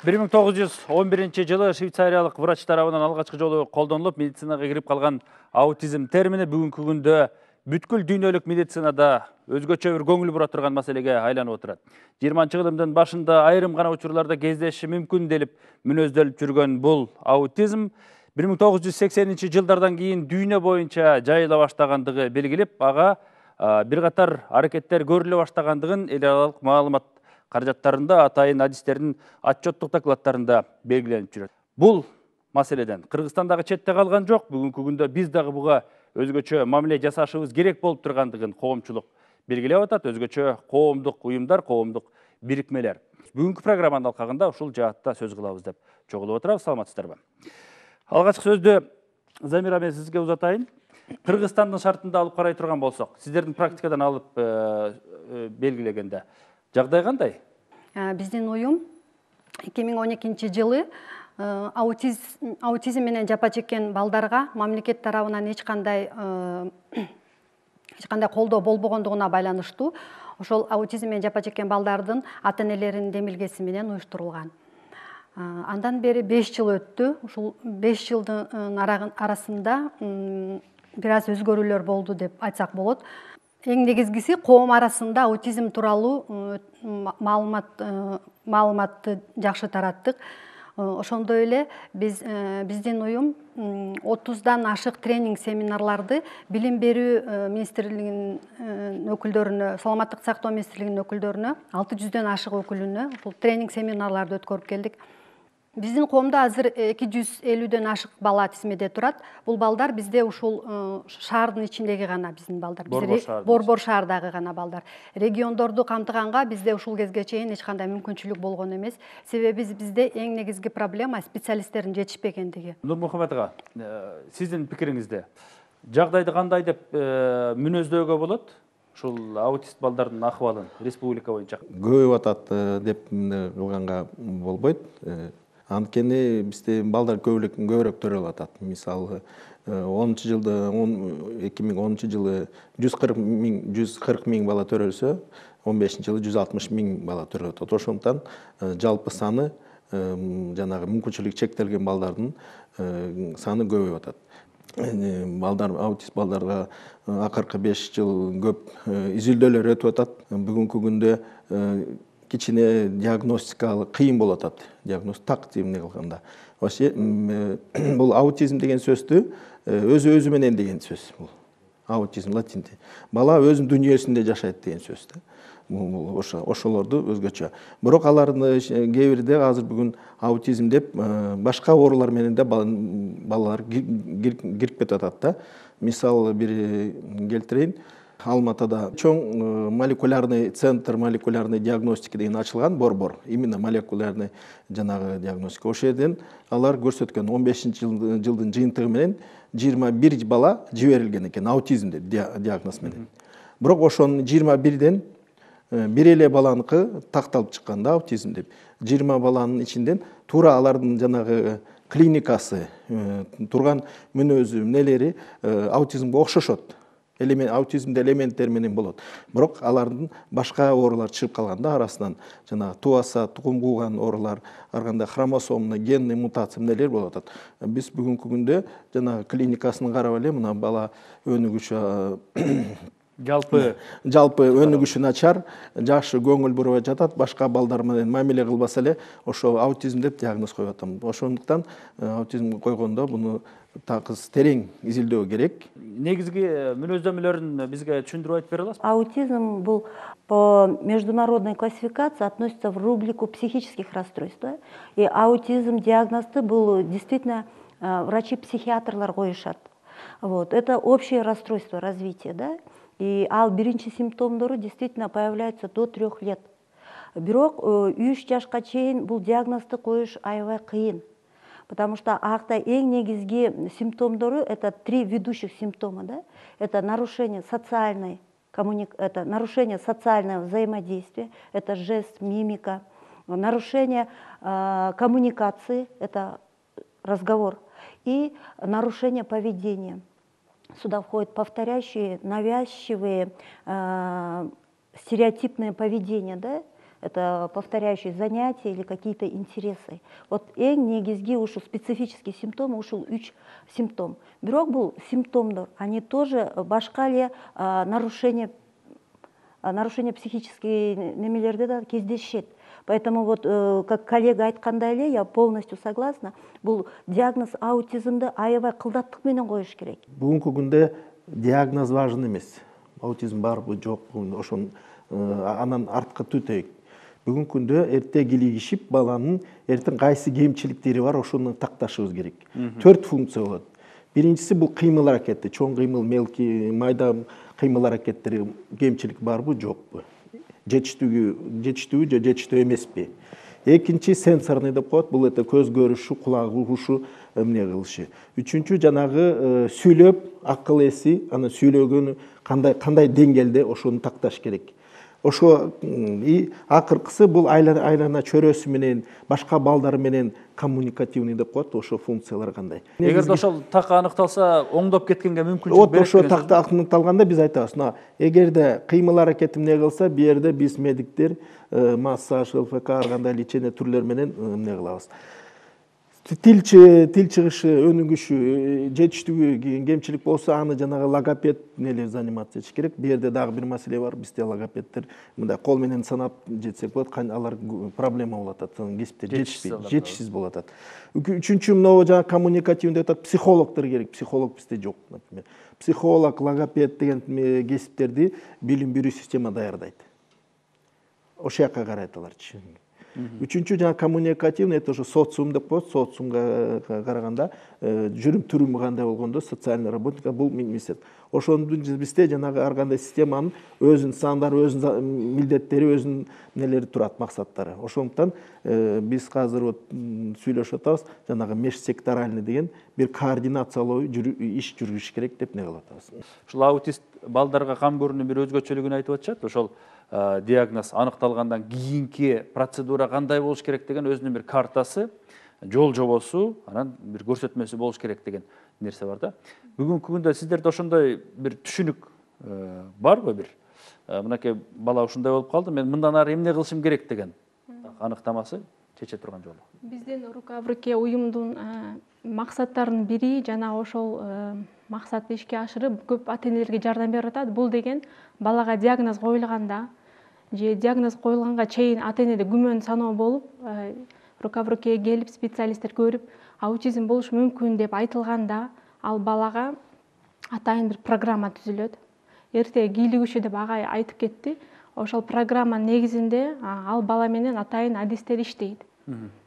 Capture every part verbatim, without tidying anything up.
бир миң тогуз жүз он биринчи жылы швейцариялык врач тарабынан алгачкы жолу колдонулуп медицинага кирип калган аутизм термини бүгүнкү күндө бүткүл дүйнөлүк медицинада өзгөчө бир көңүл бура турган маселеге айланып отурат. жыйырманчы кылымдын башында айрым гана учурларда кездешиши мүмкүн делип мүнөздөлүп жүргөн бул аутизм бир миң тогуз жүз сексенинчи жылдардан кийин дүйнө боюнча жайыла баштагандыгы белгилеп, ага бир катар аракеттер көрүлө баштагандыгын эл аралык маалымат каражаттарында, атайын адистердин отчеттук докладтарында белгиленип жүрөт. Бул маселеден Кыргызстандагы четте калган жок. Бүгүнкү күндө биз дагы буга өзгөчө мамиле жасашыбыз керек болуп тургандыгын коомчулук белгилеп атат. Өзгөчө коомдук уюмдар, коомдук бирикмелер. Бүгүнкү программанын алкагында ушул жаатта сөз кылабыз деп чогулуп отурабыз. Саламатсыздарбы? Алгачкы сөздү Замира мен сизге узатайын. Кыргызстандын шартында алып карай турган болсок, сиздердин практикадан алып белгилегенде жагдай кандай? Биздин уюм эки миң он экинчи жылы аутизм менен жапа чеккен балдарга мамлекет тарабынан эч кандай эч кандай колдоо болбогондугуна байланыштуу ошол аутизм менен жапа чеккен балдардын ата-энелеринин демилгеси менен уюштурулган. Андан бери беш жыл өттү. Ушул беш жылдын арасында бир аз өзгөрүүлөр болду деп айтсак болот. Эң негизгиси коом арасында аутизм тууралуу маалымат маалыматты жакшы тараттык. Ошондой эле биз биздин уюм отуздан ашык тренинг семинарларды билим берүү министрлигинин өкүлдөрүнө, саламаттык сактоо министрлигинин өкүлдөрүнө, алты жүздөн ашык өкүлүнө ушул тренинг семинарларды өткөрүп келдик. Биздин коомдо азыр эки жүз элүүдөн ашык бала тизмеде турат. Бул балдар бизде ушул шаардын ичиндеги гана биздин балдар. Борбор шаардагы гана балдар. Региондорду камтыганга бизде ушул кезге чейин эч кандай мүмкүнчүлүк болгон эмес. Себеби бизде эң негизги проблема специалисттердин жетишпегендиги. Нурмухаммед ага, сиздин пикириңизде жагдайды кандай деп мүнөздөөгө болот? Ушул аутист балдардын акыбалын республика боюнча көбөйүп атат деп кылганга болбойт. Анткени бизде балдар көбүрөөк төрөлүп атат. Мисалы, онунчу жылда эки миң онунчу жылы жүз кырк миң бала төрөлсө, он бешинчи жылы жүз алтымыш миң бала төрөлүп атат. Ошондуктан жалпы саны жанагы мүмкүнчүлүгү чектелген балдардын саны көбөйүп атат. Балдар, аутист балдарга акыркы беш жыл көп изилдөөлөр өтүп атат. Бүгүнкү күндө кичине диагностикалык кыйын болуп атат. Диагноз так эмне кылганда. Бул аутизм деген сөздү өзү өзү менен деген сөз бул. Аутизм латинде. Бала өзүнүн дүйнөсүндө жашайт деген сөз да. Бул ошолорду өзгөчө. Бирок алардын кээ бирде азыр бүгүн аутизм деп башка оорулар менен да балалар кирип кетип атат да. Мисал бир келтирейин. Алматыда чоң молекулярный центр молекулярной диагностики деген ачылган, борбор. Именно молекулярный жанагы диагностика. Ошол жерден алар көрсөткөн он бешинчи жылдын жыйынтыгы менен жыйырма бир бала жиберилген экен аутизм деп диагноз менен. Бирок ошонун жыйырма бирден бир эле баланыкы такталып чыккан да аутизм деп. жыйырма баланын ичинен туура алардын жанагы клиникасы, турган мүнөзү, эмнелери аутизмге окшошот. Аутизмде элементтер менен болот. Бирок алардын башка оорулар чыгып калганда арасынан жана туаса, тукум кууган оорулар, ар кандай хромосомный, генный мутация эмнелер болуп атат. Биз бүгүнкү күндө жана клиникасын карап эле мына бала өнүгүшү жалпы жалпы өнүгүшү начар, жакшы көңүл бурбай жатат, башка балдар менен мамиле кылбаса эле ошо аутизм деп диагноз коюп атам. Ошондуктан аутизм койгондо буну такыз терең изилдөө керек. Негизги мүнөздөмөлөрүн бизге түшүндүрүп айтып бере аласызбы? Аутизм бул по международной классификации относится в рубрику психических расстройств. И аутизм диагнозды бул действительно врачи-психиатрлар коюшат. Вот. Это общее расстройство развития, да? И ал биринчи симптомдору действительно появляются до трех лет. Бирок үч жашка чейин бул диагнозду коюш аябай кыйын. Потому что акта эң негизги симптомдору это три ведущих симптома, да? Это нарушение социальной коммуник... это нарушение социального взаимодействия, это жест, мимика, нарушение э, коммуникации, это разговор, и нарушение поведения. Сюда входят повторяющие, навязчивые, э, стереотипное поведение, да? это повторяющие занятия или какие-то интересы. Вот эң негизги ушул специфический симптом ушул үч симптом. Бирок бул симптомдор, они тоже башка эле нарушение нарушение психические немелерде да кездешет. Поэтому вот, как коллега айткандай эле, я полностью согласна, бул диагноз аутизмди аябай кылдаттык менен коюш керек. Бүгүнкү күндө диагноз важен эмес. Аутизм барбы, жокпу, ошон анан артка түтөйүк. Бүгүнкү күндө эрте килигишип, баланын эртең кайсы кемчиликтери бар, ошону такташыбыз керек. Төрт функция болот. Биринчиси бул кыймыл аракети, чоң кыймыл, мелкий, майда кыймыл аракеттери кемчилик барбы, жокпу. Жетиштүүгү, жетиштүү же жетиштүү эмеспи. Экинчи сенсорный деп коет, бул это көз көрүшү, кулак угушу, эмне кылышы. Үчүнчү жанагы сүйлөп, акыл эси, аны сүйлөгөнү кандай кандай деңгээлде ошону такташ керек. Ошо и акыркысы бул айлана чөрөсү менен, башка балдар менен коммуникативный деп коет, ошо функциялар кандай. Эгерде ошол так аныкталса, оңдоп кеткенге мүмкүнчүлүк берет. Ошо такта аныкталганда биз айтабыз, эгерде кыймыл аракети эмне кылса, бу жерде биз медиктер массаж, ЛФК, ар кандай лечение түрлөрү менен эмне кылабыз. Тил тил чыгышы, өнүгүшү, жетиштүү кемчилик болсо, аны жанагы логопед нелер заниматься этиш керек. Бу жерде дагы бир маселе бар. Бизде логопеддер мындай кол менен санап жетсек болот, алар проблема болот атат, кесиптер жетишпейт, жетишсиз болот атат. Үчүнчү мынау жана коммуникативный атат, психологдор керек. Психолог бизде жок, например. Психолог, логопед деген кесиптерди билим берүү система даярдайт. Ошол жака карайт аларчы. Үчүнчү жана коммуникативный, это уже социум деп коет, социумга караганда жүрүм түрүмү кандай болгондо социальный работник бул мисет. Ошондун бизде жанагы ар кандай системанын өзүнүн сандары, өзүнүн милдеттери, өзүнүн нелери турат, максаттары. Ошондуктан биз азыр вот сүйлөшүп атабыз, жанагы межсекторальный деген бир координациялуу иш жүргүзүш керек деп не кылып атабыз. Ушул аутист балдарга кам көрүүнүн бир өзгөчөлүгүн айтып атышат. Ошол диагноз аныкталгандан кийинки процедура кандай болуш керек деген өзүнүн бир картасы, жол жобосу, анан бир көрсөтмөсү болуш керек деген нерсе бар да. Бүгүнкү күндө сиздерде ошондой бир түшүнүк барбы бир? Мынакей бала ушундай болуп калды, мен мындан ары эмне кылышым керек деген аныктамасы чече турган жолу. Биздин рука в руке уюмдун максаттарынын бири жана ошол максатты ишке ашырып көп ата-энелерге жардам берип атат. Бул деген балага диагноз коюлганда же диагноз коюлганга чейин ата-энеде күмөн саноо болуп, рука в руке келип специалисттер көрүп, аутизм болушу мүмкүн деп айтылганда, ал балага атайын бир программа түзүлөт. Эрте кийлигиши деп агай айтып кетти. Ошол программанын негизинде ал бала менен атайын адистер иштейт.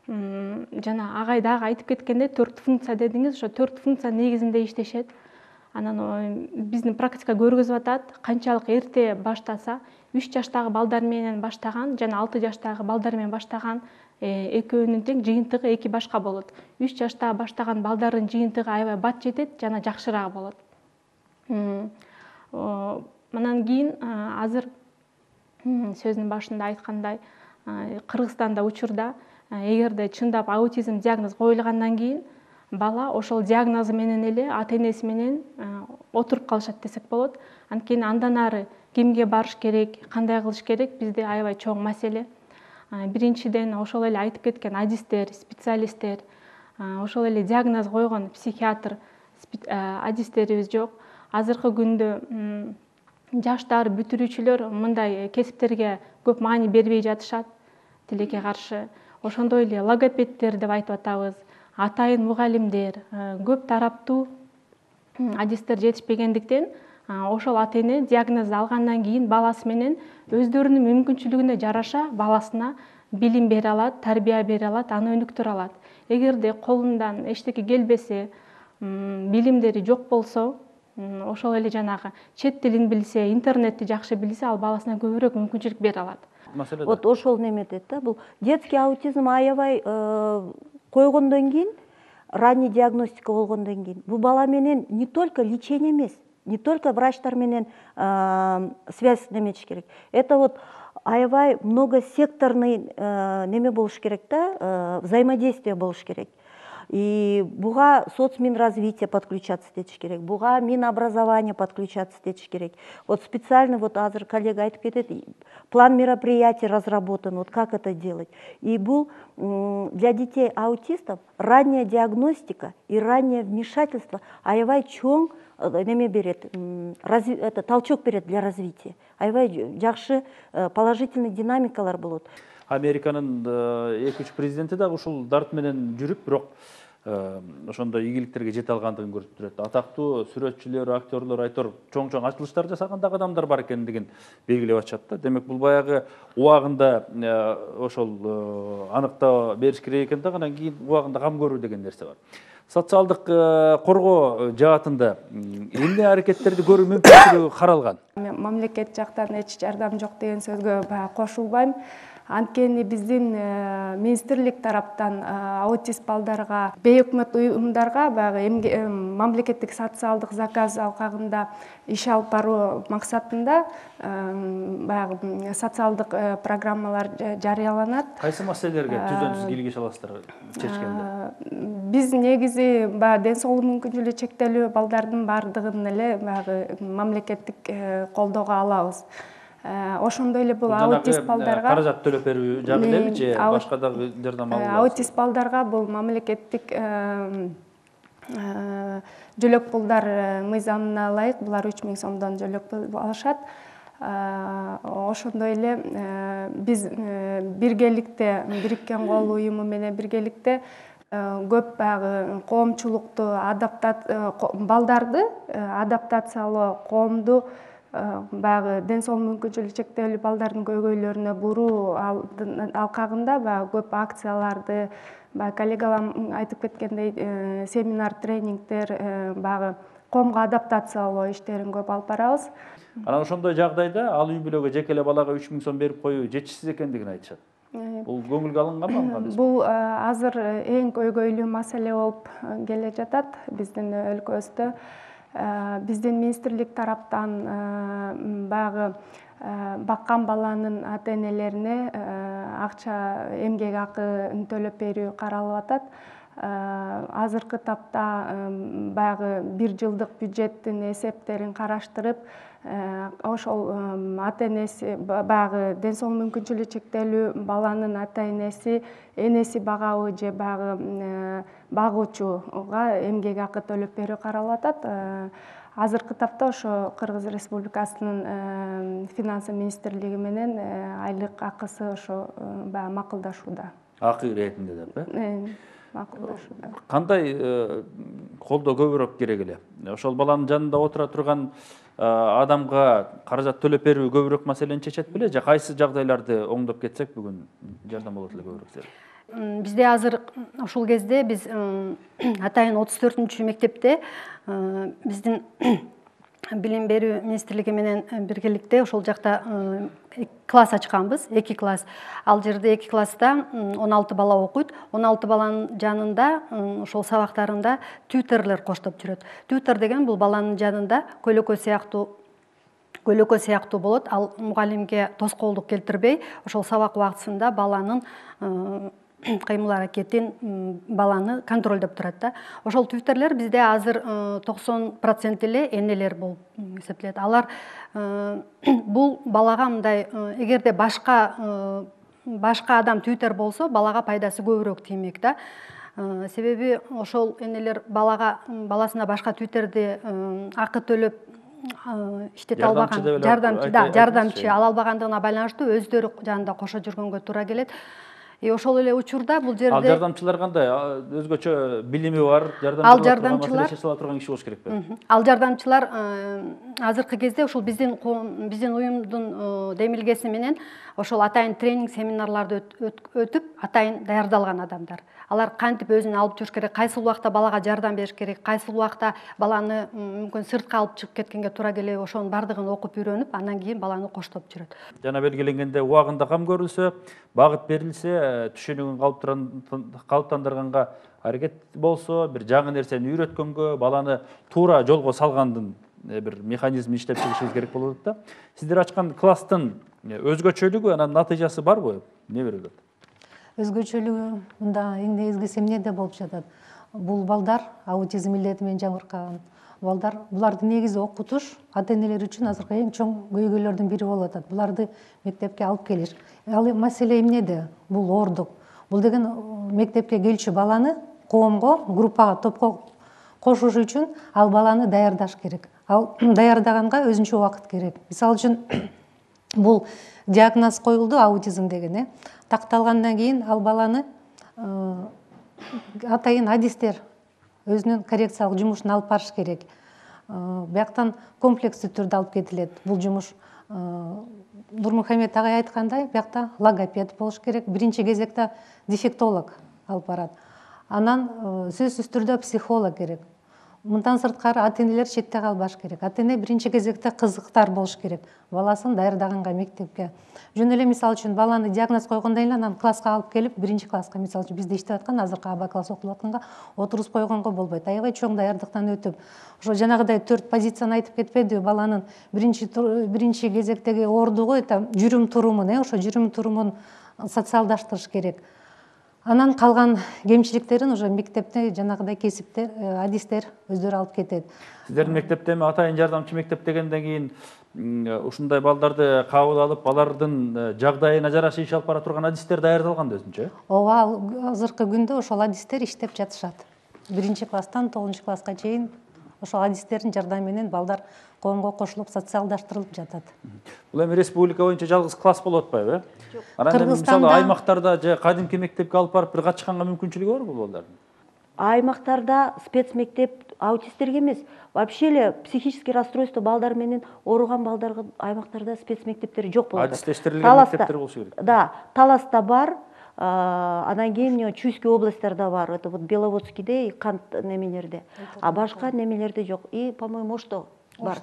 Жана агай дагы айтып кеткенде төрт функция дедиңиз, ошо төрт функциянын негизинде иштешет. Анан биздин практика көргөзүп атат, канчалык эрте баштаса, үч жаштагы балдар менен баштаган жана алты жаштагы балдар менен баштаган экөөнүн тең жыйынтыгы эки башка болот. үч жашта баштаган балдардын жыйынтыгы аябай бат жетет жана жакшыраак болот. Мындан кийин азыр сөзүнүн башында айткандай, Кыргызстанда учурда эгерде чындап аутизм диагноз коюлгандан кийин бала ошол диагнозу менен эле ата-энеси менен отуруп калышат десек болот. Анткени андан ары кимге барыш керек, кандай кылыш керек бизде аябай чоң маселе. Биринчиден ошол эле айтып кеткен адистер, специалисттер, ошол эле диагноз койгон психиатр адистерибиз жок. Азыркы күндө жаштар, бүтүрүүчүлөр мындай кесиптерге көп маани бербей жатышат, тилекке каршы. Ошондой эле логопеддер деп айтып атабыз, атайын мугалимдер, көп тараптуу адистер жетишпегендиктен ошол ата-эне диагнозду алгандан кийин баласы менен өздөрүнүн мүмкүнчүлүгүнө жараша баласына билим бере алат, тарбия бере алат, аны өнүктүрө алат. Эгерде колундан эчтеке келбесе, билимдери жок болсо, ошол эле жанагы чет тилин билсе, интернетти жакшы билсе, ал баласына көбүрөөк мүмкүнчүлүк бере алат. Вот ошол неметет да, бул детский аутизм аябай койгондон кийин, ранний диагностика болгондон кийин, бул бала менен не только лечение эмес, не только врачтар менен связь неметиш керек. Это вот аябай многосекторный неме болуш керек да, взаимодействие болуш керек. И буга соцминразвитие подключаться этиш керек, буга Минобразование подключаться этиш керек. Вот специально вот азыр коллега айтып кетет, план мероприятий разработан, вот как это делать. И бул для детей аутистов ранняя диагностика и раннее вмешательство аябай чоң неме берет, это толчок берет для развития. Аябай жакшы положительный динамикалар болот. Американын эки үч президенти дагы ушул дарт менен жүрүп, бирок ошондой ийгиликтерге жете алгандыгын көрсөтүп турат. Атактуу сүрөтчүлөр, актерлор, айтор чоң-чоң ачылыштар жасаган дагы адамдар бар экендигин белгилеп атышат да. Демек, бул баягы убагында ошол аныктоо бериш керек экен да, анан кийин убагында кам көрүү деген нерсе бар. Социалдык коргоо жаатында эмне аракеттерди көрүү мүмкүнчүлүгү каралган? Мамлекет жактан эч жардам жок деген сөзгө кошулбайм. Анткени биздин министрлик тараптан аутист балдарга, бейөкмөт уюмдарга баягы мамлекеттик социалдык заказ алкагында иш алып баруу максатында баягы социалдык программалар жарыяланат. Кайсы маселелерге түздөн-түз кийлигише аласыздар чечкенде? Биз негизи баягы ден соолугу мүмкүнчүлүгү чектелүү балдардын бардыгын эле баягы мамлекеттик колдоого алабыз. Ошондой эле бул аутист балдарга каражат төлөп берүү жагы элеби же башка дагы жардам алуу? Аутист балдарга бул мамлекеттик жөлөк пулдар мыйзамына ылайык булар үч миң сомдон жөлөк пул алышат. Ошондой эле биз биргеликте, Бириккен Кол уюму менен биргеликте көп баягы коомчулукту балдарды адаптациялоо, коомду баягы ден соолугу мүмкүнчүлүгү чектелүү балдардын көйгөйлөрүнө буруу алкагында баягы көп акцияларды, баягы коллегаларым айтып кеткендей семинар, тренингдер, баягы коомго адаптациялоо иштерин көп алып барабыз. Анан ошондой жагдайда ал үй бүлөгө жеке эле балага үч миң сом берип коюу жетишсиз экендигин айтышат. Бул көңүлгө алынганбы? Бул азыр эң көйгөйлүү маселе болуп келе жатат биздин өлкөбүздө. Биздин министрлик тараптан баягы баккан баланын ата-энелерине акча, эмгек акы төлөп берүү каралып атат. Азыркы тапта баягы бир жылдык бюджеттин эсептерин караштырып, ошол ата-энеси баягы ден соолугу мүмкүнчүлүгү чектелүү баланын ата-энеси, энеси багабы же баягы багуучуга эмгек акы төлөп берүү каралып атат. Азыркы тапта ошо Кыргыз Республикасынын финансы министрлиги менен айлык акысы ошо баягы макулдашууда. Акы иретинде деп, э? Макулдашууда. Кандай колдоо көбүрөөк керек эле? Ошол баланын жанында отура турган адамга каражат төлөп берүү көбүрөөк маселени чечет беле, же кайсы жагдайларды оңдоп кетсек бүгүн жардам болот эле көбүрөөк? Бизде азыр ушул кезде биз атайын отуз төртүнчү мектепте биздин билим берүү министрлиги менен биргеликте ошол жакта класс ачканбыз, эки класс. Ал жерде эки класста он алты бала окуйт. он алты баланын жанында ошол сабактарында тьютерлер коштоп жүрөт. Тьютер деген бул баланын жанында көйлөкө сыяктуу көйлөкө сыяктуу болот. Ал мугалимге тоскоолдук келтирбей, ошол сабак убактысында баланын кыймыл аракетин, баланы контролдоп турат да. Ошол тьютерлер бизде азыр токсон процент эле энелер болуп эсептелет. Алар бул балага мындай, эгерде башка башка адам тьютер болсо, балага пайдасы көбүрөөк тиймек да. Себеби ошол энелер балага баласына башка тьютерди акы төлөп иштете албаган, жардамчы да, жардамчы ала албагандыгына байланыштуу өздөрү жанында кошо жүргөнгө туура келет. И ошол эле учурда бул жерде ал жардамчылар кандай? Өзгөчө билими бар, ал жардамчылар чече турган киши болуш керекпи? Ал жардамчылар азыркы кезде ошол биздин биздин уюмдун демилгеси менен ошол атайын тренинг семинарларды өтүп, атайын даярдалган адамдар. Алар кантип өзүн алып жүрүш керек, кайсыл убакта балага жардам бериш керек, кайсыл убакта баланы мүмкүн сыртка алып чыгып кеткенге туура келеби, ошонун бардыгын окуп үйрөнүп, андан кийин баланы коштоп жүрөт. Жана белгиленгенде убагында кам көрүлсө, багыт берилсе, түшүнүгүн калыптандырганга аракет болсо, бир жаңы нерсени үйрөткөнгө, баланы туура жолго салгандын бир механизм иштеп чыгышыбыз керек болот да. Сиздер ачкан класстын өзгөчөлүгү, анан натыйжасы барбы? Эмне берилет? Өзгөчөлүгү мында эң негизгиси эмнеде болуп жатат? Бул балдар аутизм илдети менен жабыркаган балдар. Буларды негизи окутуш ата энелер үчүн азыркы эң чоң көйгөйлөрдүн бири болуп атат. Буларды мектепке алып келиш. Ал маселе эмнеде? Бул оордук. Бул деген мектепке келчү баланы коомго, группага, топко кошуш үчүн ал баланы даярдаш керек. Ал даярдаганга өзүнчө убакыт керек. Мисалы үчүн бул диагноз коюлду аутизм деген, э. Такталгандан кийин ал баланы атайын адистер өзүнүн коррекциялык жумушун алып барыш керек. Бияктан комплекстүү түрдө алып кетилет. Бул жумуш Нурмухамед агай айткандай, биякта логопед болуш керек. Биринчи кезекте дефектолог алып барат. Анан сөзсүз түрдө психолог керек. Мындан сырткары ата энелер четте калбаш керек. Ата эне биринчи кезекте кызыктар болуш керек баласын даярдаганга мектепке. Жөн эле мисалы үчүн баланы диагноз койгондон кийин анан класска алып келип, биринчи класска мисалы үчүн бизде иштеп аткан азыркы А Б класс окутуп атканга отургузуп койгонго болбойт. Аябай чоң даярдыктан өтүп, ошо жанагыдай төрт позицияны айтып кетпедиби? Баланын биринчи биринчи кезектеги оордугу это жүрүм турумун, э, ошо жүрүм турумун социалдаштырыш керек. Анан калган кемчиликтерин уже мектепте жанагыдай кесиптер, адистер өздөрү алып кетет. Сиздердин мектепте эми атайын жардамчы мектеп дегенден кийин ушундай балдарды кабыл алып, алардын жагдайына жараша иш алып бара турган адистер даярдалган да өзүнчө? Ооба, азыркы күндө ошол адистер иштеп жатышат. Биринчи класстан тогузунчу класска чейин ошол адистердин жардамы менен балдар коомго кошулуп, социалдаштырылып жатат. Бул эми республика боюнча жалгыз класс болуп атпайбы, э? Анан эми мисалы аймактарда же кадимки мектепке алып барып бир катышканга мүмкүнчүлүгү барбы бул балдардын? Аймактарда спецмектеп аутисттерге эмес, вообще эле психический расстройство балдар менен ооруган балдарга аймактарда спецмектептер жок болот. Адистештирилген мектептер болушу керек. Да, Таласта бар, анан кийин Чуйский областтарда бар, это вот Беловодскийде, Кант немелерде. А башка немелерде жок. И, по-моему, Ошто бар.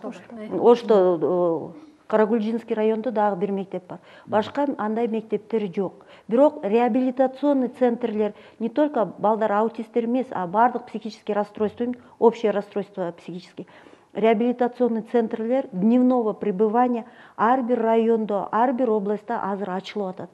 Ошто Карагульжинский районда дагы бир мектеп бар. Башка андай мектептер жок. Бирок реабилитационный центрлер не только балдар аутисттер эмес, а бардык психический расстройство, общее расстройство психический. Реабилитационный центрлер дневного пребывания ар бир райондо, ар бир областта азыр ачылып атат.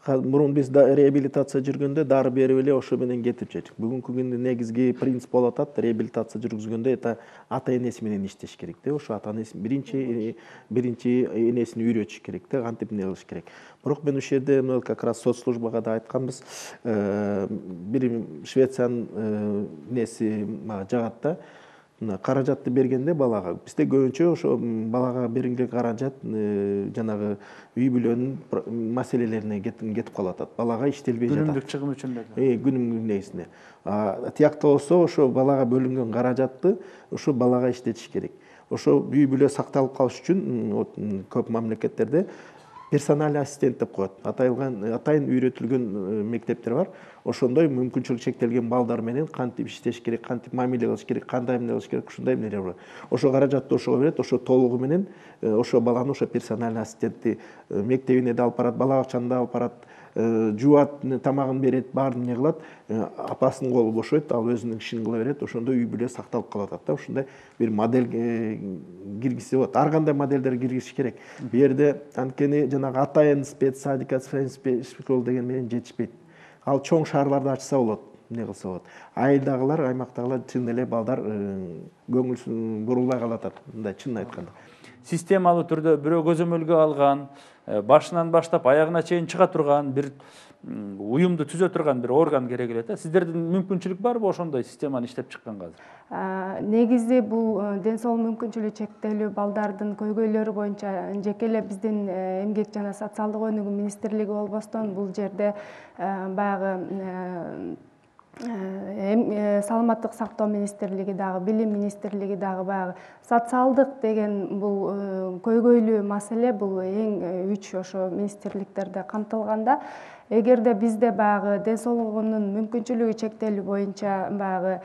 Мурун биз реабилитация жүргөндө дары берип эле ошо менен кетип жүрдүк. Бүгүнкү күндө негизги принцип болуп атат, реабилитация жүргүзгөндө это ата энеси менен иштеш керек да. Ошо ата энеси биринчи биринчи энесин үйрөтүш керек да, кантип эмне кылыш керек. Бирок мен ушул жерде как раз соцслужбага да айтканбыз, бир Швециянын неси жагат да. Каражатты бергенде балага бизде көбүнчө ошо балага берилген каражат жанагы үй бүлөнүн маселелерине кетип калып атат. Балага иштелбей жатат. Күнүмдүк чыгым үчүн эле. Э, күнүмдүк негизинде. Тиякта болсо ошо балага бөлүнгөн каражатты ошо балага иштетиш керек. Ошо үй бүлө сакталып калыш үчүн көп мамлекеттерде персональный ассистент деп коет. Атайылган атайын үйрөтүлгөн мектептер бар. Ошондой мүмкүнчүлүгү чектелген балдар менен кантип иштеш керек, кантип мамиле кылыш керек, кандай эмне кылыш керек, ушундай эмнелер бар. Ошо каражатты ошого берет, ошо толугу менен ошо баланы ошо персональный ассистентти мектебине да алып барат, бала бакчаны да алып барат, жуат, тамагын берет, баарын эмне кылат, апасынын колу бошойт, ал өзүнүн ишин кыла берет, ошондой үй бүлө сакталып калып атат да. Ушундай бир модель киргизсе болот. Ар кандай модельдер киргизиш керек. Бу жерде анткени жанагы атайын спецсадика, спецшкола деген менен жетишпейт. Ал чоң шаарларда ачса болот, эмне кылса болот. Айылдагылар, аймактагылар чын эле балдар көңүлсүн бурулбай калып атат, мындай чынын айтканда. Системалуу түрдө бирөө көзөмөлгө алган, башынан баштап аягына чейин чыга турган бир уюмду түзө турган бир орган керек эле да. Сиздердин мүмкүнчүлүк барбы ошондой системаны иштеп чыкканга азыр? Негизи бул ден соолук мүмкүнчүлүгү чектелүү балдардын көйгөйлөрү боюнча жеке эле биздин эмгек жана социалдык өнүгүү министрлиги болбостон бул жерде баягы саламаттык сактоо министрлиги дагы, билим министрлиги дагы баягы социалдык деген бул көйгөйлүү маселе бул эң үч ошо министрликтерде камтылганда. Эгерде бизде баягы ден соолугунун мүмкүнчүлүгү чектелүү боюнча баягы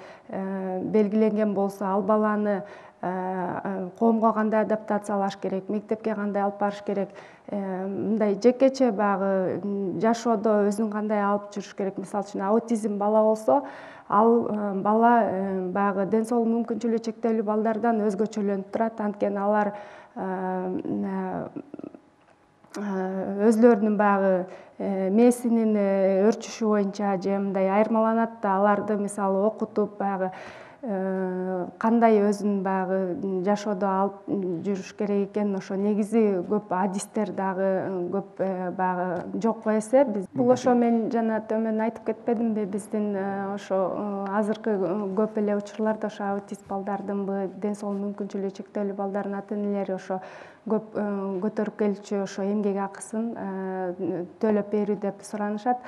белгиленген болсо, ал баланы коомго кандай адаптациялаш керек, мектепке кандай алып барыш керек, мындай жекече баягы жашоодо өзүн кандай алып жүрүш керек. Мисалы үчүн аутизм бала болсо, ал бала баягы ден соолук мүмкүнчүлүгү чектелүү балдардан өзгөчөлөнүп турат. Анткени алар өзлөрүнүн баягы мээсинин өрчүшү боюнча же мындай айырмаланат да, аларды мисалы окутуп баягы кандай өзүн баягы жашоодо алып жүрүш керек экен, ошо негизи көп адистер дагы көп баягы жок эсе. Биз бул ошо мен жана төмөн айтып кетпедимби, биздин ошо азыркы көп эле учурларда ошо аутист балдардынбы, ден соолук мүмкүнчүлүгү чектелүү балдардын ата энелери ошо көп көтөрүп келчү ошо эмгек акысын төлөп берүү деп суранышат.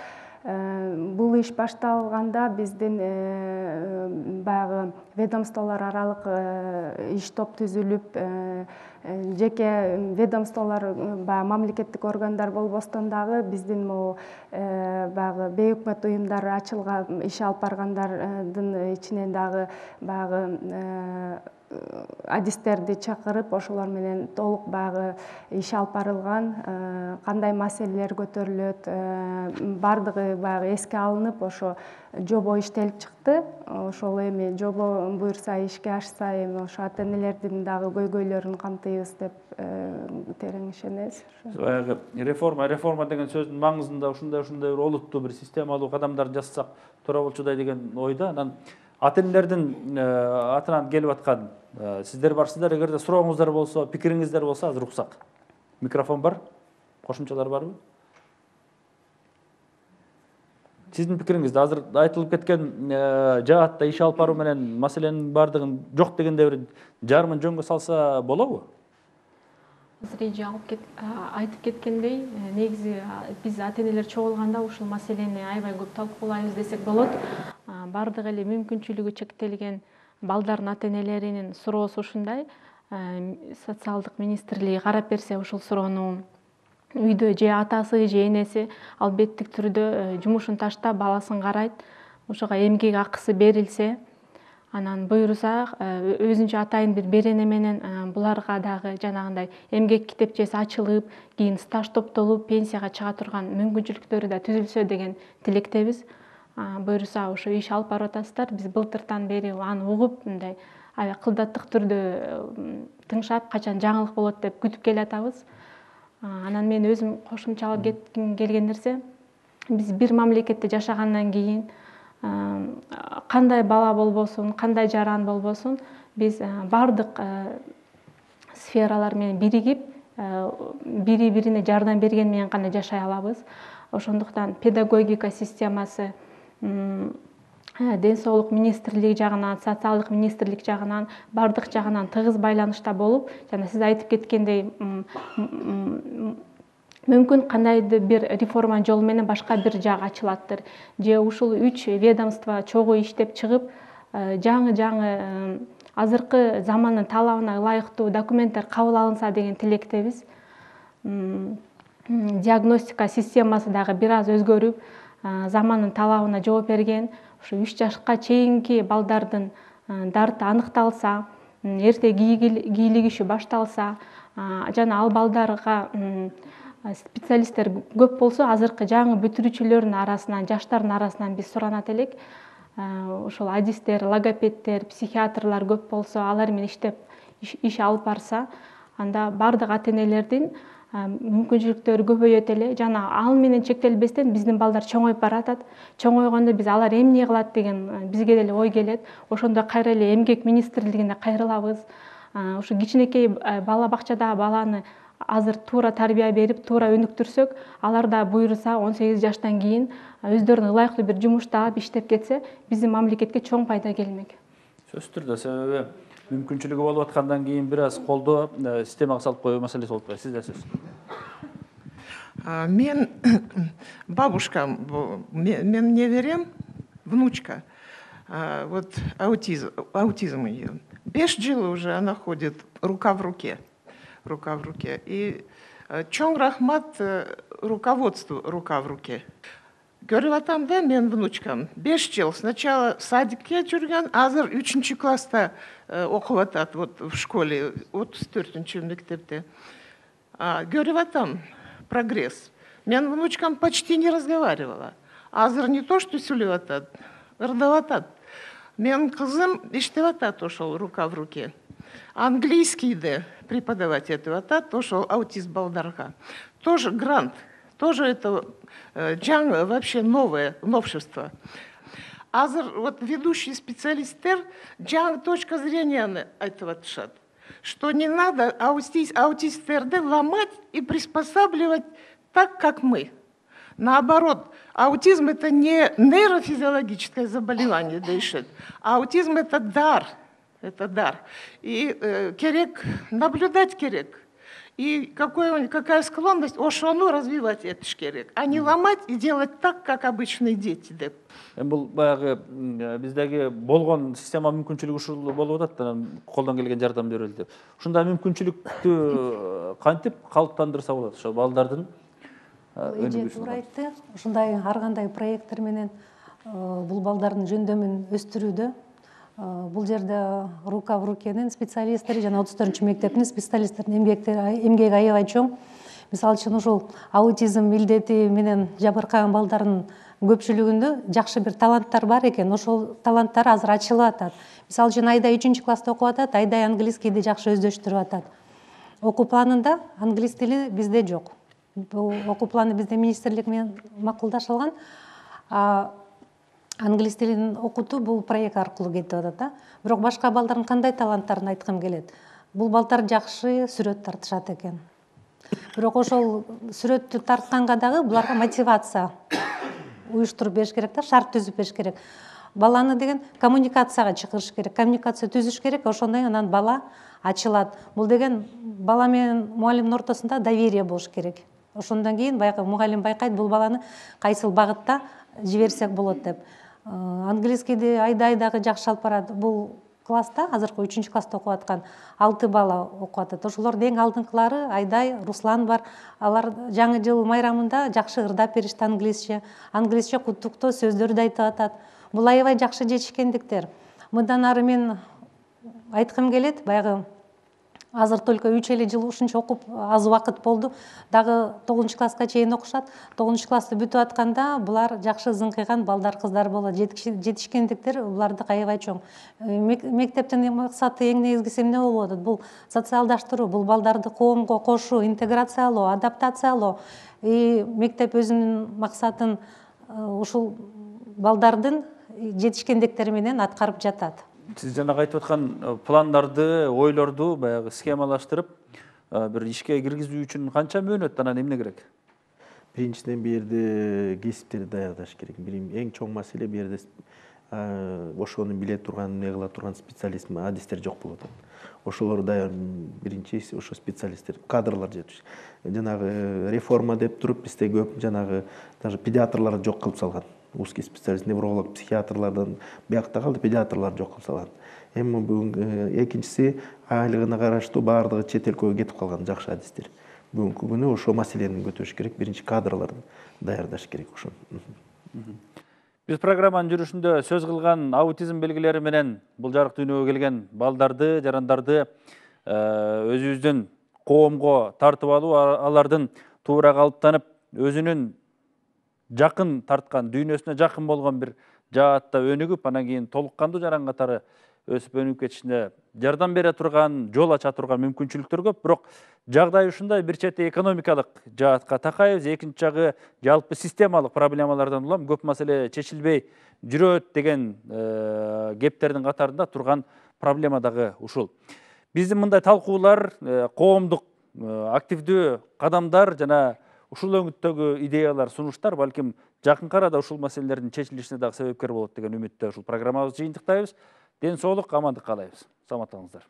Бул иш башталганда биздин баягы ведомстволор аралык иш топ түзүлүп, жеке ведомстволор баягы мамлекеттик органдар болбостон дагы биздин могу баягы бейөкмөт уюмдар ачылган, иш алып баргандардын ичинен дагы баягы адистерди чакырып, ошолор менен толук баягы иш алып барылган, кандай маселелер көтөрүлөт, бардыгы баягы эске алынып, ошо жобо иштелип чыкты. Ошол эми жобо буюрса ишке ашса, эми ошо ата энелердин дагы көйгөйлөрүн камтыйбыз деп терең ишенебиз. Баягы реформа, реформа деген сөздүн маңызында ушундай ушундай бир олуттуу бир системалуу кадамдар жасасак туура болчудай деген ойда. Анан ата энелердин атынан келип аткан сиздер барсыздар, эгерде сурооңуздар болсо, пикириңиздер болсо азыр уксак. Микрофон бар? Кошумчалар барбы? Сиздин пикириңизде азыр айтылып кеткен жаатта иш алып баруу менен маселенин бардыгын жок дегенде бир жарымын жөнгө салса болобу? Азыр эже айтып кеткендей, негизи биз ата энелер чогулганда ушул маселени аябай көп талкуулайбыз десек болот. Бардык эле мүмкүнчүлүгү чектелген балдардын ата энелеринин суроосу ушундай. Социалдык министрлиги карап берсе, ушул суроону үйдө же атасы же энеси албеттик түрдө жумушун таштап баласын карайт, ошого эмгек акысы берилсе, анан буюрса өзүнчө атайын бир берене менен буларга дагы жанагындай эмгек китепчеси ачылып, кийин стаж топтолуп, пенсияга чыга турган мүмкүнчүлүктөрү да түзүлсө деген тилектебиз. Буюрса ошо иш алып барып атасыздар, биз былтыртан бери аны угуп, мындай кылдаттык түрдө тыңшап, качан жаңылык болот деп күтүп келатабыз. Анан мен өзүм кошумчалап кетким келген нерсе, биз бир мамлекетте жашагандан кийин кандай бала болбосун, кандай жаран болбосун, биз бардык сфералар менен биригип, бири бирине жардам берген менен гана жашай алабыз. Ошондуктан педагогика системасы ден соолук министрлиги жагынан, социалдык министрлик жагынан, бардык жагынан тыгыз байланышта болуп, жана сиз айтып кеткендей, мүмкүн кандайдыр бир реформа жолу менен башка бир жак ачылаттыр. Же ушул үч ведомство чогуу иштеп чыгып, жаңы-жаңы азыркы замандын талабына ылайыктуу документтер кабыл алынса деген тилектебиз. Диагностика системасы дагы бир аз өзгөрүп, замандын талабына жооп берген. Ушу үч жашка чейинки балдардын дарты аныкталса, эрте кийлигиши башталса, жана ал балдарга специалисттер көп болсо, азыркы жаңы бүтүрүүчүлөрдүн арасынан, жаштардын арасынан биз суранат элек. Ошол адистер, логопедтер, психиатрлар көп болсо, алар менен иштеп иш алып барса, анда бардык ата энелердин мүмкүнчүлүктөрү көбөйөт эле. Жана ал менен чектелбестен биздин балдар чоңоюп баратат. Чоңойгондо биз алар эмне кылат деген бизге деле ой келет. Ошондо кайра эле эмгек министрлигине кайрылабыз. Ушу кичинекей бала бакчада баланы азыр туура тарбия берип, туура өнүктүрсөк, алар да буюрса он сегиз жаштан кийин өздөрүнө ылайыктуу бир жумуш таап иштеп кетсе, биздин мамлекетке чоң пайда келмек. Сөзсүз түрдө, себеби мүмкүнчүлүгү болуп аткандан кийин бир аз колдоо системага салып коюу маселеси болуп калат. Сизде сөз. Мен бабушкам, мен неверем, внучка, вот аутизм, аутизм ее. Беш жыл уже она ходит рука в руке, рука в руке. И чоң рахмат руководству рука в руке. Көрүп атам да мен внучкам беш жыл сначала садикке жүргөн, азыр үчүнчү класста окуп атат, вот в школе, отуз төртүнчү мектепте. Көрүп атам прогресс. Мен внучкам почти не разговаривала. Азыр не то, что сүйлөп атат, ырдап атат. Мен кызым иштеп атат ошол рука в руке. Английскийди преподавать этип атат ошол аутист балдарга. тоже грант, тоже это жаңы, вообще новое, новшество. Азыр вот ведущий специалисттер жаңы точка зрения этого тышат, что не надо аутист, аутисттерді ломать и приспосабливать так, как мы. Наоборот, аутизм это не нейрофизиологическое заболевание, дышит, а аутизм это дар, это дар. И э, керек наблюдать керек. И какой, какая склонность ошону развивать это керек, а не ломать и делать так, как обычные дети. Деп. Бул баягы биздеги болгон система мүмкүнчүлүгү ушул болуп атат, анан колдон келген жардам берилди деп. Ушундай мүмкүнчүлүктү кантип калыптандырса болот ошо балдардын эже туура айтты. Ушундай ар кандай проекттер менен бул балдардын жөндөмүн өстүрүүдө бул жерде рука в рукенин специалисттери жана отуз төртүнчү мектептин специалисттеринин эмгеги аябай чоң. Мисалы үчүн ушул аутизм илдети менен жабыркаган балдардын көпчүлүгүндө жакшы бир таланттар бар экен. Ошол таланттар азыр ачылып атат. Мисалы үчүн Айдай үчүнчү класста окуп атат, Айдай английскийди жакшы өздөштүрүп атат. Окуу планында англис тили бизде жок. Бул окуу планы бизде министрлик менен макулдашылган. Англис тилин окутуу бул проект аркылуу кетип атат да. Бирок башка балдардын кандай таланттарын айткым келет. Бул балдар жакшы сүрөт тартышат экен. Бирок ошол сүрөттү тартканга дагы буларга мотивация уюштуруп бериш керек да, шарт түзүп бериш керек. Баланы деген коммуникацияга чакырыш керек, коммуникация түзүш керек, ошондой анан бала ачылат. Бул деген бала менен мугалимдин ортосунда доверие болуш керек. Ошондон кийин баягы мугалим байкайт бул баланы кайсыл багытта жиберсек болот деп. Английскийди Айдай дагы жакшы алып барат. Бул класста, азыркы үчүнчү класста окуп аткан алты бала окуп атат. Ошолордун эң алдыңкылары Айдай, Руслан бар. Алар жаңы жыл майрамында жакшы ырдап беришти англисче. Англисче куттуктоо сөздөрдү айтып атат. Бул аябай жакшы жетишкендиктер. Мындан ары мен айткым келет, баягы азыр только үч эле жыл ушунча окуп аз убакыт болду. Дагы тогузунчу класска чейин окушат. тогузунчу классты бүтүп атканда булар жакшы зыңкыйган балдар, кыздар болот. Жетишкендиктер буларды аябай чоң. Мектептин максаты эң негизгиси эмне болуп атат? Бул социалдаштыруу, бул балдарды коомго кошуу, интеграциялоо, адаптациялоо. И мектеп өзүнүн максатын ушул балдардын жетишкендиктери менен аткарып жатат. Сиз жанагы айтып аткан пландарды, ойлорду баягы схемалаштырып, бир ишке киргизүү үчүн канча мөөнөт, анан эмне керек? Биринчиден бул жерде кесиптерди даярдаш керек. Эң чоң маселе бул жерде ошону биле турган, эмне кыла турган специалист, адистер жок болуп атат. Ошолор даяр биринчи ошо специалисттер, кадрлар жетиш. Жанагы реформа деп туруп бизде көп жанагы даже педиатрларды жок кылып салган. Узкий специалист, невролог, психиатрlardan биякта калды, педиатрлар жок кылып салган. Эми бүгүн экинчиси айлыгына караштуу баардыгы чет элге кетип калган жакшы адистер. Бүгүнкү күнү ошо маселени көтөрүш керек, биринчи кадрларды даярдаш керек ошо. Биз программанын жүрүшүндө сөз кылган аутизм белгилери менен бул жарык дүйнөгө келген балдарды, жарандарды өзүбүздүн коомго тартып алуу, алардын туура калыптанып, өзүнүн жакын тарткан, дүйнөсүнө жакын болгон бир жаатта өнүгүп, анан кийин толук кандуу жаран катары өсүп өнүгүп кетишине жардам бере турган, жол ача турган мүмкүнчүлүктөр көп. Бирок жагдай ушундай, бир чети экономикалык жаатка такайбыз, экинчи жагы жалпы системалык проблемалардан улам көп маселе чечилбей жүрөт деген кептердин катарында турган проблема дагы ушул. Биздин мындай талкуулар, коомдук активдүү кадамдар жана ушул өңүттөгү идеялар, сунуштар балким жакын арада ушул маселелердин чечилишине дагы себепкер болот деген үмүттө ушул программабызды жыйынтыктайбыз. Ден соолук, амандык каалайбыз. Саламатыңыздар.